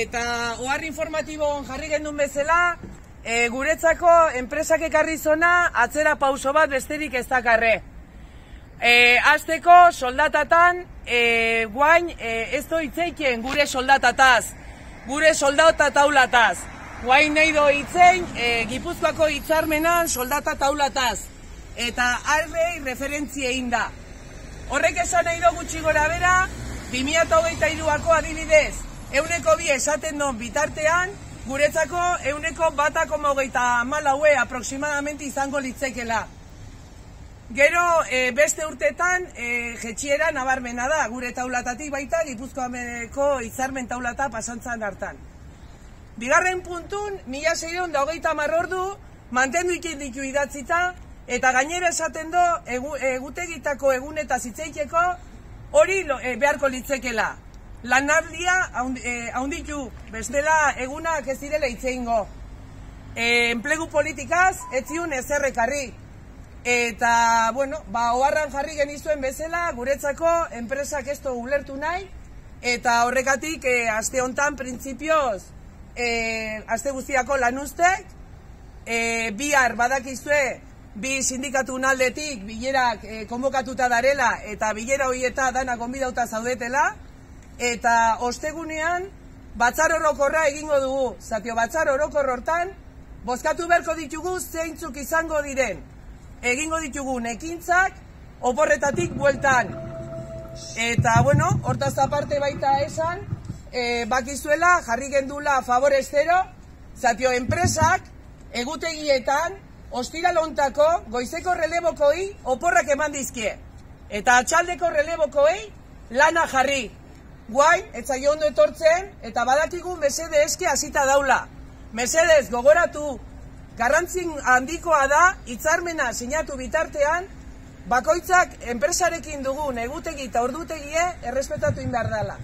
eta ohar informatiboan jarri gendun bezala, guretzako enpresak ekarri zona atzera pauso bat besterik ez dakarre. Azteko soldatatan, guain ez doitzeiken gure soldatataz, gure soldata taulataz. Guain nahi doitzein Gipuzkoako hitzarmenan soldata taulataz. Eta arbei referentzia egin da. Horrek esan nahi do gutxi gora bera, 2023ako adibidez, 102 esaten don bitartean, guretzako 1,1,34 aproximadamente izango litzekela. Gero beste urtetan jetxiera nabarmena da, gure taulatatik baita Gipuzkoako hitzarmen taulata pasantzan hartan. Bigarren puntun, 1630 ordu mantendu ikin ditu idatzita, eta gainera esaten do egutegitako egunetaz hitzeiteko hori beharko litzekela. Lanaldia haunditu, bestela egunak ez direla hitzeingo. Enplegu politikaz ez ziun ezerrekarri. Eta, bueno, oharran jarri genizuen bezala, guretzako enpresak ez du ulertu nahi, eta horrekatik aste hontan printzipioz, aste guztiako lanuztek, bihar badakizue, bi sindikatu aldetik bilerak konbokatuta darela, eta bilera horieta dana gonbidauta zaudetela, eta ostegunean batzar orokorra egingo dugu. Zatio, batzar orokor hortan, bozkatu beharko ditugu zeintzuk izango diren. Egingo ditugun ekintzak oporretatik bueltan. Eta, bueno, hortaz aparte baita esan, bakizuela jarri gendula favorestero, zatio enpresak egutegietan ostiral hontako goizeko relebokoi oporrak eman dizkie. Eta atxaldeko relebokoei lana jarri. Guain, etzaio ondo etortzen, eta badakigu mesede eske hasita daula. Mesedez gogoratu, garrantzin handikoa da, hitzarmena sinatu bitartean, bakoitzak enpresarekin dugun egutegi eta ordutegie errespetatu inbehar dela.